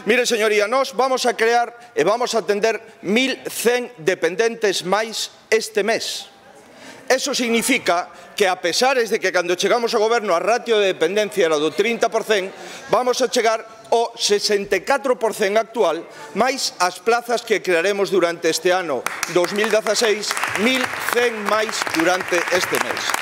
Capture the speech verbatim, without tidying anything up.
Mire, señoría, nós vamos a crear e vamos a atender mil cen dependentes máis este mes. Eso significa que, a pesares de que cando chegamos ao goberno a ratio de dependencia era do trinta por cento, vamos a chegar ao sesenta e catro por cento actual, máis as plazas que crearemos durante este ano dos mil dezaseis, mil cen máis durante este mes.